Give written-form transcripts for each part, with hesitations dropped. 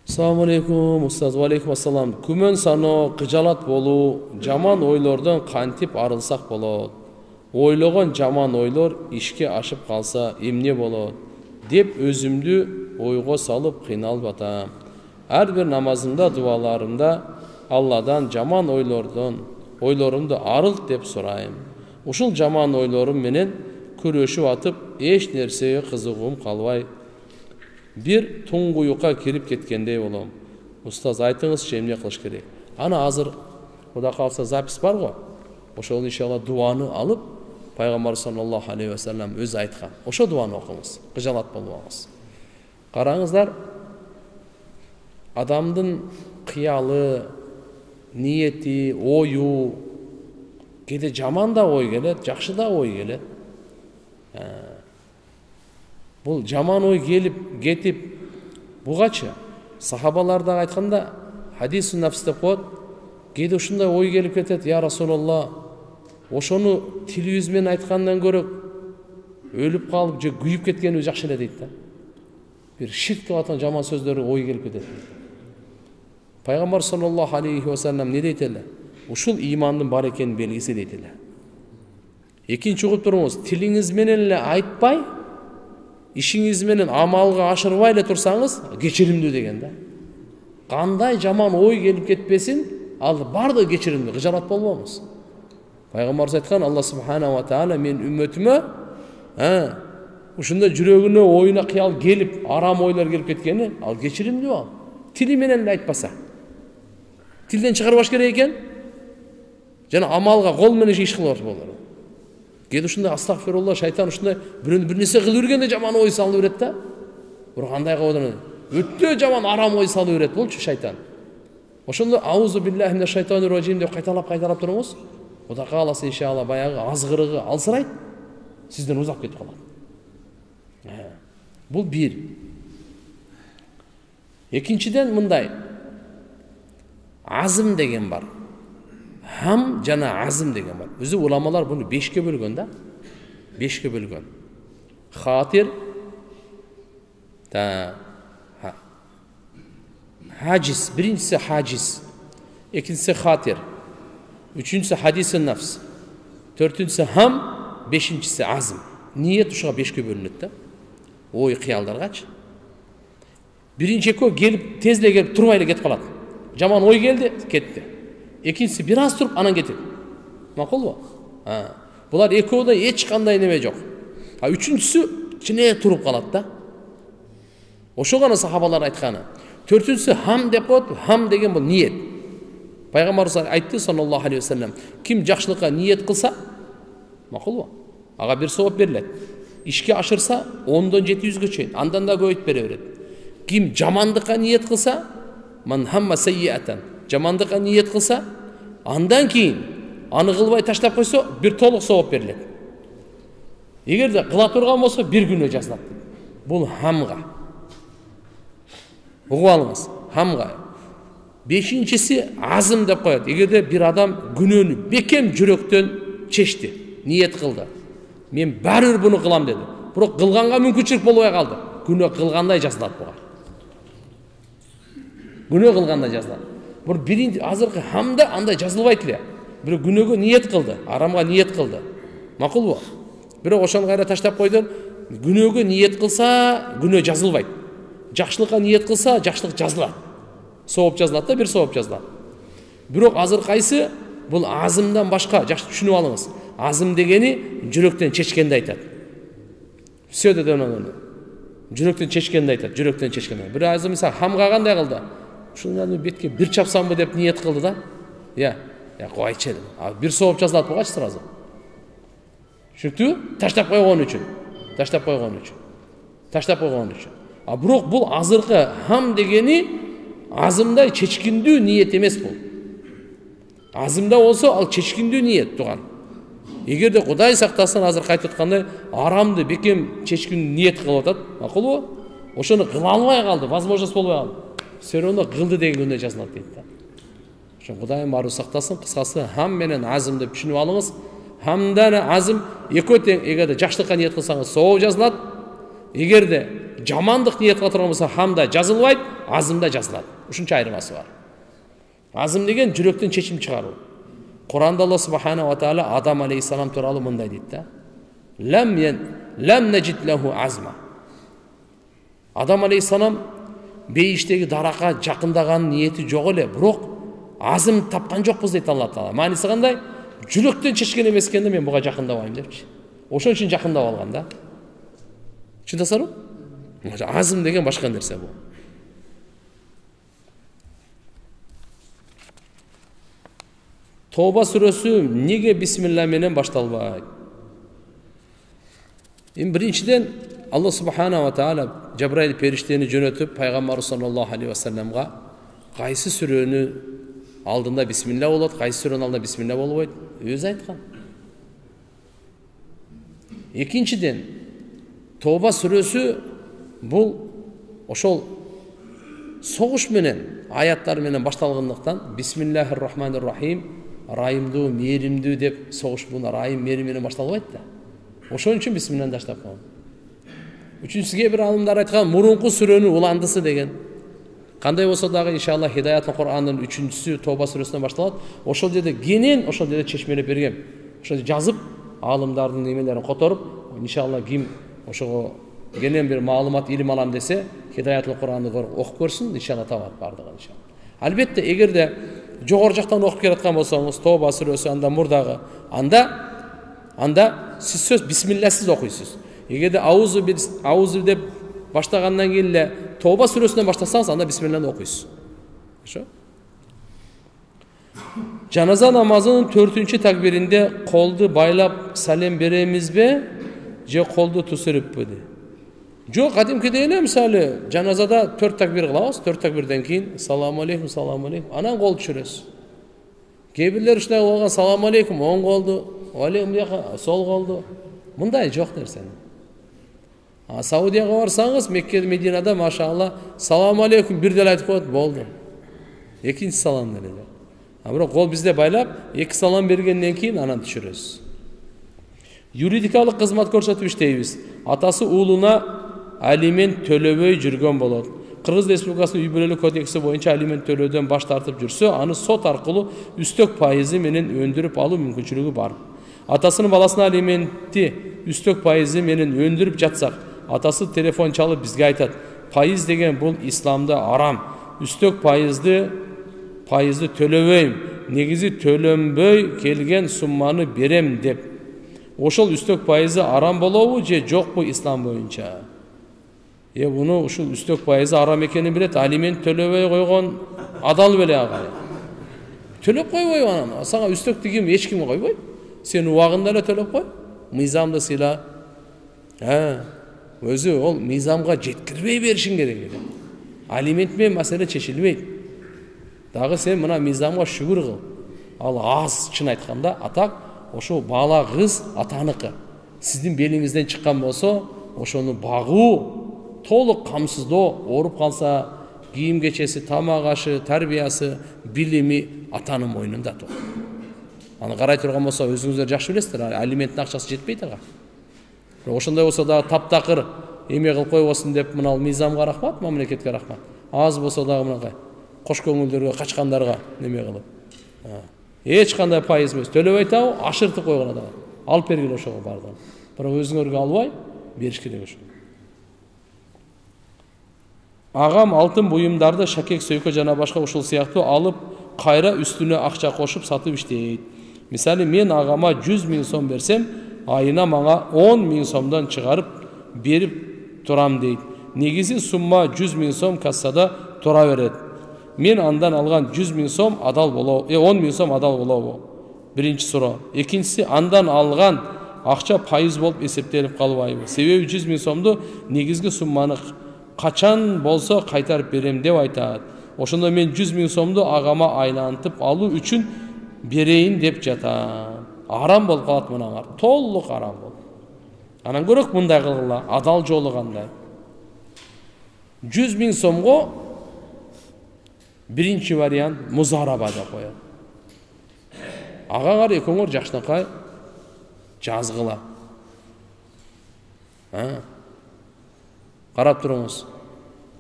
Assalamu алейкум, устаз. Ва алейкум ассалам. Күмөн саноо, кыжалат болуу, жаман ойлордон кантип арылсак болот? Ойлогон жаман ойлор ишке ашып калса эмне болот деп өзүмдү ойго салып кыйналып атам. Ар бир намазымда, дуаларымда Алладан жаман ойлорумду арылт деп сурайм. Ушул жаман ойлорум менен күрөшүп атып, эч нерсеге кызыгуум калбай, бир туңгуюкка кирип кеткендей болом. Устаз, айтыңызчы, эмне кылыш керек? Ана азыр Кудай кааласа запись бар го. Ошол иншалла дуаны алып, Пайгамбар саллаллаху алейхи ва саллям өзү айткан. Ошо дуаны окуңуз, кыжалат болбоңуз. Караңыздар, адамдын кыялы, ниети, ою, кээде жаман да ой келет, жакшы да ой келет. Бул жаман ой келип кетип бугачы сахабаларда айтканда хадисун нафс деп коет. Кээде ушундай ой келип кетет, я Расулалла, ошону тилибиз менен айткандан көрө өлүп калып же күйүп кеткенибиз жакшы эле дейт да. Бир ширк кылып аткан жаман сөздөр ой келип кетет. Пайгамбар саллаллаху алейхи ва саллям не дейт эле? Ушул имандын бар экенин белгиси дейт эле. Экинчи угуп туруңуз, тилиңиз менен эле айтпай, ишиңиз менен амалга ашырбай эле турсаңыз, кечиримдүү деген да. Кандай жаман ой келип кетпесин, ал бардыгы кечиримдүү, кыжалат болбоңуз. Пайгамбарыбыз айткан, Алла субхана ва таала мен үммөтүмө ушундай жүрөгүнө, оюна кыял келип, арам ойлор келип кеткени, ал кечиримдүү ал. Тили менен эле айтпаса. Тилден чыгарбаш керек экен. Жана амалга, кол менен иш кылып болот. Кээде ушундай астагфирулла, шайтан ушундай бир нерсе кылып жүргөндө жаман ой салып берет да. Бирок кандай кылып өтө жаман арам ой салып берет болчу шайтан. Ошондо аузу биллахи минаш шайтанир раджим деп кайталап туруңуз. Кудай кааласа иншалла баягы азгырыгы алсырайт, сизден узап кетип калат. Бул бир. Экинчиден мындай. Азым деген бар. Хам жана азым деген бар. Өзү уламалар буну 5ке бөлгөн да. 5ке бөлгөн. Хатир, хажис, биринчиси хажис, экинчиси хатир, үчүнчүсү хадисун нафс, төртүнчүсү хам, бешинчиси азым. Ниет ушуга 5ке бөлүнөт да. Ой кыялдаргачы. Биринчи экөө келип, тез эле келип, турбай эле кетип калат. Жаман ой келди, кетти. Экинчиси бир аз туруп, анан кетет. Макулбу? Булар экөөдө эч кандай неме жок. Үчүнчүсү чыне туруп калат да. Ошо гана сахабалар айтканы. Төртүнчүсү хам деп коет. Хам деген бул ниет. Пайгамбарыбыз айтты саллаллаху алейхи ва саллям, ким жакшылыкка ниет кылса, макулбу? Ага бир сооп берилет. Ишке ашырса 10дон 700гө чейин, андан да көбөйтүп бере берет. Ким жамандыкка ниет кылса, ман хамма саййатан, жамандыкка ниет кылса, андан кийин аны кылбай таштап койсо, бир толук сооп берилет. Эгерде кыла турган болсо, бир күнөө жазылат. Бул хамга. Угуп алыңыз, хамга. Бешинчиси азым деп коет. Эгерде бир адам күнөөнү бекем жүрөктөн чечти, ниет кылды. Мен баары буну кылам деди. Бирок кылганга мүмкүнчүлүк болбой калды. Күнөө кылгандай жазылат буга. Күнөө кылгандай жазылат. Бир биринчи азыркы хамда андай жазылбайт эле. Бирок күнөөгө ниет кылды, арамга ниет кылды. Макулбу? Бирок ошону кайра таштап койду. Күнөөгө ниет кылса, күнөө жазылбайт. Жакшылыкка ниет кылса, жакшылык жазылат. Сооп жазылат да, бир сооп жазылат. Бирок азыр кайсы? Бул азымдан башка, жакшы түшүнүп алыңыз. Азым дегени жүрөктөн чечкенди айтат. Все деди анан. Жүрөктөн чечкенди айтат, жүрөктөн чечкенди. Бир азым мисалы хамга кандай кылды? Ушуну бетке бир чапсамбы деп ниет кылды да. Я койчу. Бир сооп жазылат бугачы сразу. Түшүнүктүбү? Таштап койгон үчүн. Бирок бул азыркы хам дегени азымдай чечкиндүү ниет эмес бул. Азымда болсо ал чечкиндүү ниет туган. Эгерде Кудай сактасын, азыр кайтып аткандай арамды бекем чечкиндүү ниет кылып атат, макулбу? Ошону кыла албай калды, возможность болбой калды. Все равно кылды деген күндө жазылат дейт да. Ошо Кудайым баары сактасын. Кыскасы хам менен азым деп түшүнүп алыңыз. Хамдан азым экөө тең. Эгерде жакшылыкка ниет кылсаңыз сооп жазылат. Эгерде жамандык ниет кыла турган болсо хамда жазылбайт, азымда жазылат. Ушунча айырмасы бар. Азым деген жүрөктөн чечим чыгаруу. Куранда Алла субханаху ва таала Адам алейхиссалам тууралуу мындай дейт да. Лам наджид лаху азма. Адам алейхиссалам бейиштеги даракка жакындаган ниети жок эле, бирок азым тапкан жокпуз дейт Алла таала. Мааниси кандай? Жүрөктөн чечкен эмес экенде мен буга жакындабайм депчи. Ошон үчүн жакындап алган да. Түшүндүңүзбү? Азым деген башка нерсе бул. Тоба сүрөсү неге бисмилла менен башталбайт? Биринчиден Алла субханаху ва таала Жабраил периштени жөнөтүп пайгамбар саллаллаху алейхи ва салламга кайсы сүрөнү алдында бисмилла болот, кайсы сүрөнүн алдында бисмилла болбойт, өзү айткан. Экинчиден Тоба сүрөсү бул ошол согуш менен, аяттар менен башталгандыктан бисмиллахир рахманир рахим, райымдуу, мээримдүү деп согуш бул райым, мээрим менен башталбайт да. Ошон үчүн бисмилланы баштап койгон. Үчүнчүсү бир алымдар айткан мурунку сүрөнүн уландысы деген. Кандай болсо дагы иншалла Хидаятлы Кур'андын 3-сү Тоба сүрөсүнөн башталат. Ошол жерде кенен ошол жерде чечмелеп берген. Ошо жазып алымдардын немелерин которуп, иншалла ким ошого кенен бир маалымат илим алам десе, Хидаятлы Кур'анды окуп көрсүн, иншалла табат бардыгын иншалла. Албетте эгерде жогору жактан окуп келаткан болсоңуз, Тоба сүрөсү анда мурдагы, анда сиз сөз бисмилласыз окуйсуз. Эгерде аузу деп баштагандан кийин эле Тоба сүрөсүнөн баштасаңыз, анда бисмилланы окуйсуз. Ошо. Жаназа намазынын 4-чү такбиринде колду байлап салем беремизби, же колду тусуруппу? Жок, кадимкидей эле мисалы жаназада 4 такбир кылабыз, 4 такбирден кийин саламу алейкум, анан кол түшүрөсүз. Кээ бирлер ушундай болгон саламу алейкум, оң колду, алейкум жака сол колду. Мындай жок нерсе. Саудияга барсаңыз, Мекке, Мединада машалла саламу алейкум бир деле айтып коет, болду. Экинчи салам деле. Бирок кол бизде байлап, 2 салам бергенден кийин анан түшүрөсүз. Юридикалык кызмат көрсөтүп иштейбиз. Атасы уулуна алимент төлөбөй жүргөн болот. Кыргыз Республикасынын үй бүлөлүк кодекси боюнча алимент төлөөдөн баш тартып жүрсө, аны сот аркылуу үстөк пайызы менен өндүрүп алуу мүмкүнчүлүгү бар. Атасынын баласына алиментти үстөк пайызы менен өндүрүп жатсак, атасы телефон чалып бизге айтат: "Пайыз деген бул исламда арам. Үстөк пайызды төлөбөйм. Негизи төлөнбөй келген сумманы берем" деп. Ошол үстөк пайызы арам болобу же жокпу ислам боюнча? Буну ушул үстөк пайызы арам экенин билет, алимент төлөбөй койгон адал беле ага. Төлөп койбойбу анан? Сага үстөктү ким эч ким койбойт. Сен убагында эле төлөп кой. Мыйзамды сыйла. Өзү ол мыйзамга жеткирбей беришиң керек. Алимент менен маселе чечилбейт. Дагы сен мына мыйзамга шүгүр кыл. Ал аз чын айтканда, атак ошо бала кыз атаныкы. Сиздин белиңизден чыккан болсо, ошону багуу, толук камсыздоо, ооруп калса, кийим кечеси, тамак ашы, тарбиясы, билими атанын мойнунда тур. Аны карай турган болсо, өзүңүздөр жакшы билесиздер, алименттин акчасы жетпейт ага. Ошондой болсо дагы таптакыр эме кылып койбосун деп, мына мыйзамга рахмат, мамлекетке рахмат. Аз болсо дагы мынакай кош көңүлдөргө, качкандарга неме кылып. Эч кандай пайыз эмес, төлөбөй табы, ашыртып койгон дагы. Алып бергиле ошого бардыгын. Бирок өзүңөргө албай бериш керек ошо. Агам алтын буюмдарды, шакек, сөйкө жана башка ушул сыяктуу алып, кайра үстүнө акча кошуп сатып иштейт. Мисалы, мен агама 100 000 сом берсем, айына мага 10 000 сомдон чыгарып берип турам дейт. Негизи сумма 100 000 сом кассада тура берет. Мен андан алган 100 000 сом адал болобу? 10 000 сом адал болобу? Биринчи суроо. Экинчиси, андан алган акча пайыз болуп эсептелип калбайбы? Себеби 100 000 сомду негизги сумманы качан болсо кайтарып берем деп айтат. Ошондо мен 100 000 сомду агама айлантып алуу үчүн берейин деп жатам. Арам болуп калат мынаңар. Толук арам болот. Анан көрөк мындай кылгыла, адал жолу кандай. 100 000 сомго биринчи вариант музараба деп коет. Агаңар экөөңөр жакшынакай жазгыла. Карап туруңуз.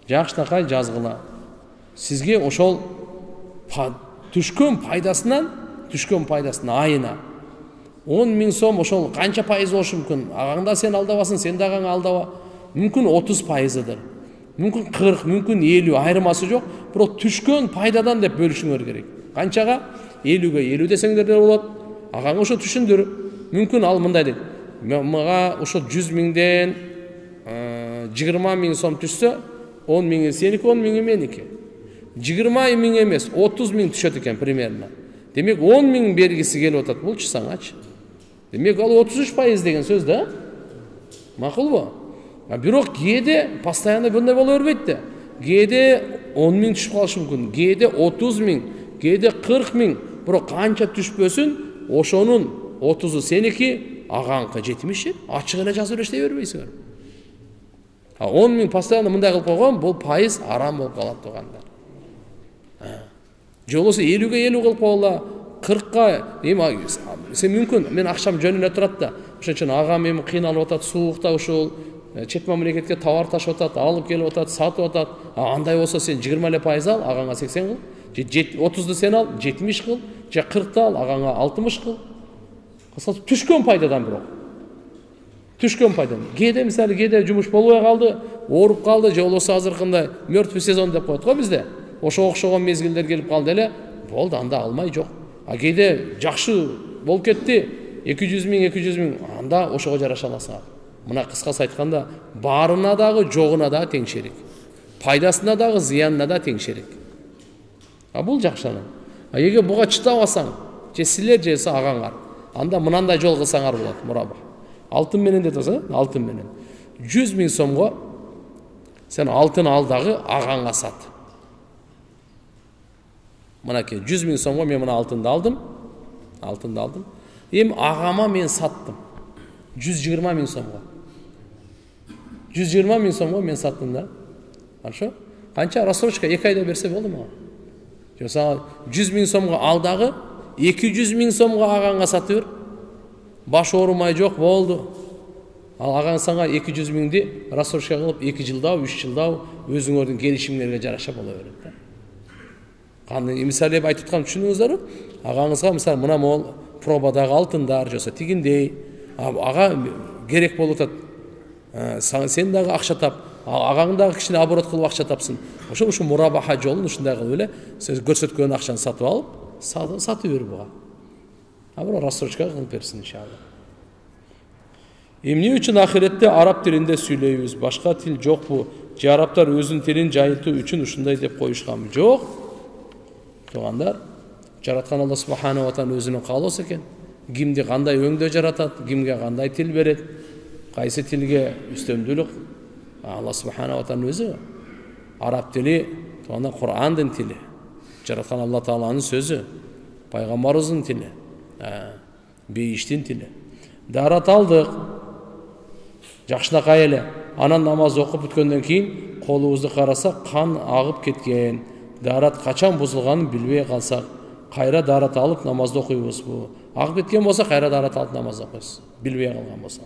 Жакшынакай жазгыла. Сизге ошол түшкөн пайдасынан айына 10.000 сом ошол канча пайыз болушу мүмкүн? Агаңда сен алдабасын, сен да агаңа алдаба. Мүмкүн 30%дыр. Мүмкүн 40, мүмкүн 50, айырмасы жок. Бирок түшкөн пайдадан деп бөлүшүңөр керек. Канчага? 50-ге 50 десеңдер да болот. Агаңа ошо түшүндүр. Мүмкүн ал мындай дейт. Мага ошо 100.000ден 20.000 сом түшсө, 10.000 сеники, 10.000 меники. 20.000 эмес, 30.000 түшөт экен примерно. Демек 10.000 бергиси келип атат болчу саңачы. Демек ал 33% деген сөз да. Макулбу? Бирок кээде постоянно мындай боло бербейт да. Кээде 10.000 түшүп калышы мүмкүн, кээде 30.000, кээде 40.000. Бирок канча түшпөсүн, ошонун 30-у сеники, агаңкы 70. Ачык эле жазып эштей бербейсиңер. 10.000 постоянно мындай кылып койгон, бул пайыз арам болуп калат тугандар. Же болбосо 50-ге 50 кылып койгула, 40-ка сен мүмкүн мен акчам жөнүнө турат да. Ошон үчүн агам эми кыйналып атат, суукта ушул чет мамлекетке товар ташып атат, алып келип атат, сатып атат. Андай болсо сен 20% ал, агаңа 80 кыл. Же 30-ду сен ал, 70 кыл. Же 40-ты ал, агаңа 60 кыл. Кысалчы түшкөн пайдадан бирок. Түшкөн пайдадан. Кээде мисалы кээде жумуш болбой калды, ооруп калды, же болбосо азыркындай мертвый сезон деп коет го бизде. Ошого окшогон мезгилдер келип калды эле, болду, анда алмай жок. Кээде жакшы болуп кетти, 200.000, анда ошого жараша аласың. Мына кыскасы айтканда, барына дагы, жогуна дагы тең шерик. Пайдасына дагы, зыянына да тең шерик. Бул жакшы анан. Эгер буга чыдабасаң, же силер же агаңар, анда мынандай жол кылсаңар болот, мураба. Алтын менен деп атасың, алтын менен. 100.000 сомго сен алтын ал дагы агаңа сат. Мынакей 100.000 сомго мен мына алтынды алдым. Эми агама мен саттым. 120.000 сомго. 120.000 сомго мен саттым да. Хорошо? Канча рассрочка 2 айда берсе болду мага. Жаса 100.000 сомго ал дагы 200.000 сомго агаңа сатып бер. Баш оорумай жок болду. Ал агаң сага 200.000ди рассрочка кылып 2 жылдабы, 3 жылдабы өзүңөрдүн келишимиңерге жараша боло берет да. Кандай мисалы айтып аткан түшүнүңүздөрбү? Агаңызга мисалы мына мол пробадагы алтындар жоса тигиндей, ага керек болуп атат. Сен дагы акча тап, агаң дагы кичине оборот кылып акча тапсын. Ошо мурабаха жолун ушундай кылып эле сиз көрсөткөн акчаны сатып алып, сатып бер буга. Бирок рассрочка кылып берсин иншалла. Эмне үчүн ахиретте араб тилинде сүйлөйбүз? Башка тил жокпу? Же арабтар өзүнүн тилин жайылтуу үчүн ушундай деп коюшканбы? Жок. Тугандар, жараткан Алла субхана ва таала өзүнүн каалоосу экен. Кимди кандай өңдө жаратат, кимге кандай тил берет, кайсы тилге үстөмдүүлүк Алла субхана ва таала өзү. Араб тили туганда Кур'андын тили. Жараткан Алла тааланын сөзү, пайгамбарыбыздын тили, бейиштин тили. Дарат алдык. Жакшынакай эле. Анан намаз окуп бүткөндөн кийин колубузду карасак кан агып кеткен. Дарат качан бузулганын билбей калсак, кайра дарат алып намазды окуйбузбу? Агып кеткен болсо кайра дарат алып намаз окуйбуз. Билбей калган болсо.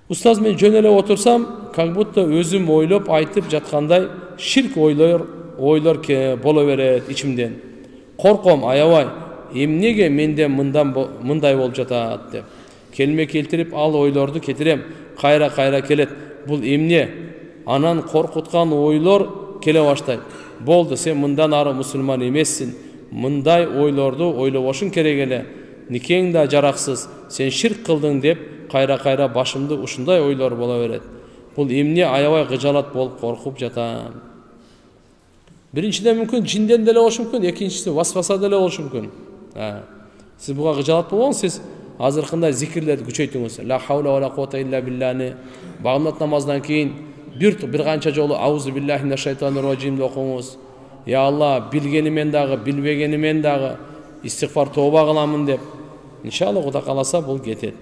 Устаз, мен жөн эле отурсам, как будто өзүм ойлоп айтып жаткандай ширк ойлор боло берет ичимден. Корком, аябай. Эмнеге менде мындай болуп жатат деп. Келме келтирип ал ойлорду кетирем. Кайра келет. Бул эмне? Анан коркуткан ойлор келе баштайт. Болду, сен мындан ары мусулман эмессиң. Мындай ойлорду ойлобошуң керек эле. Никең да жараксыз. Сен ширк кылдың деп кайра башымды ушундай ойлор боло берет. Бул эмне? Аябай кыжалат болуп коркуп жатам. Биринчиден мүмкүн жинден деле болушу мүмкүн, экинчиси васваса деле болушу мүмкүн. Сиз буга кыжалат болгоңуз, сиз азыркындай зикирлерди күчөйтүңүз. Ла хаула ва ла куввата илля биллани. Багымдат намаздан кийин бир канча жолу аузу биллахи минаш шайтанир раджим деп окуңуз. Я Алла, билгенимен дагы, билбегенимен дагы истигфар тооба кыламын деп. Иншалла Кудай кааласа бул кетет.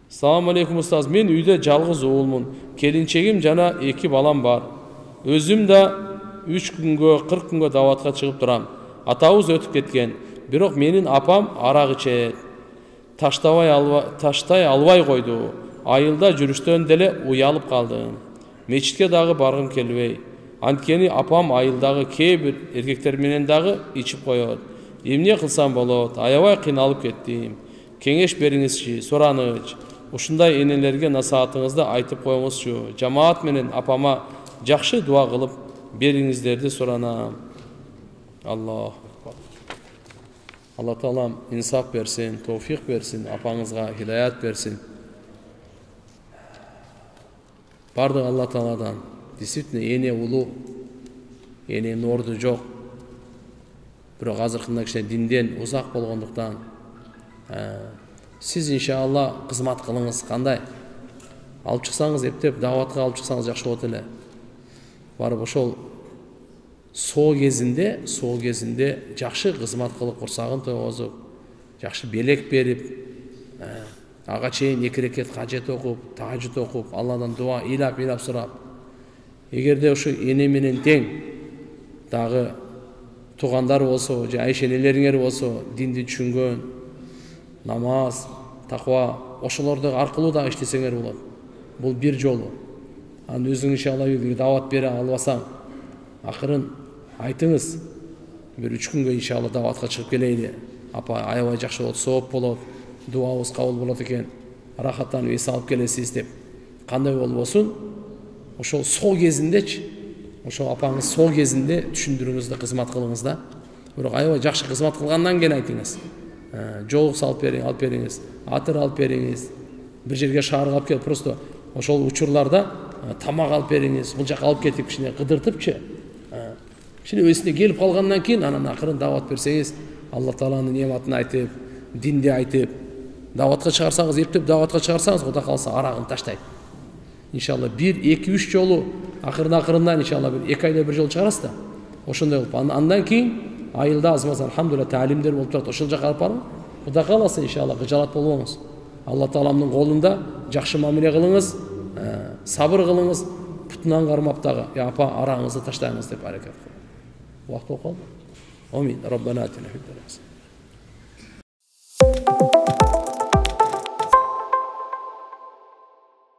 Салам алейкум устаз. Мен үйдө жалгыз уулмун. Келинчегим жана 2 балам бар. Өзүм да 3 күнгө, 40 күнгө даватка чыгып турам. Атабыз өтүп кеткен. Бирок менин апам арак ичет. Таштай албай койду. Айылда жүрүштөн деле уялып калдым. Мечитке дагы баргым келбей. Анткени апам айылдагы кээ бир эркектер менен дагы ичип коет. Эмне кылсам болот? Аябай кыйналып кеттим. Кеңеш бериңизчи, сураныч. Ушундай энелерге насаатыңызды айтып коюңузчу. Жамаат менен апама жакшы дуа кылып бериңиздерди суранам. Аллах. Алла Таалам инсаф берсин, товфик берсин, апаңызга хидаят берсин. Бардык Алла Тааладан. Действительно, эне улуу, эне норду жок. Бирок азыркында кичине динден узак болгондуктан сиз иншалла кызмат кылыңыз. Кандай? Алып чыксаңыз, эптеп даватка алып чыксаңыз жакшы болот эле. Барып ошол соо кезинде жакшы кызмат кылып, курсагын тойгозуп, жакшы белек берип, ага чейин 2 рекет кажет окуп, тажид окуп, Алладан дуа ыйлап сурап. Эгерде ушу эне менен тең дагы туугандар болсо, же айшенелериңер болсо, динди түшүнгөн, намаз, таква, ошолорду аркылуу да иштесеңер болот. Бул бир жолу. Анан өзүң иншалла дават бере албасаң, акырын айтыңыз. Бир 3 күнгө иншалла даватка чыгып келейли. Апа, аябай жакшы болот, сооп болот, дуабыз кабыл болот экен. Рахаттанып эс алып келесиз деп. Кандай болбосун? Ошол соо кезиндечи, ошол апаңыз соо кезинде түшүндүрүңүз да, кызмат кылыңыз да. Бирок аябай жакшы кызмат кылгандан кийин айтыңыз. Жолук алып бериңиз, атыр алып бериңиз. Бир жерге шаарга алып келип, просто ошол учурларда тамак алып бериңиз. Бул жака алып кетип кичине кыдыртыпчы. Кичине өсүнө келип калгандан кийин анан акырын дават берсеңиз, Алла Тааланын нематын айтып, динди айтып, даватка чыгарсаңыз, эптеп даватка чыгарсаңыз, Кудай калса арагын таштайт. Иншалла 1, 2, 3 жолу акырындан иншалла 2 айда 1 жолу чыгарасыз да. Ошондой болуп, андан кийин айылда азмаз алхамдулилlah таалимдер болуп турат. Ошол жака алып барып, Кудай каласа иншалла кыжалат болбоңуз. Алла Тааламдын колунда жакшы мамиле кылыңыз, сабыр кылыңыз, путунан кармап дагы, апа араңызды таштайыңыз деп аракет кылыңыз. Убакыт болуп калды. Амин. Раббана атина фид дунья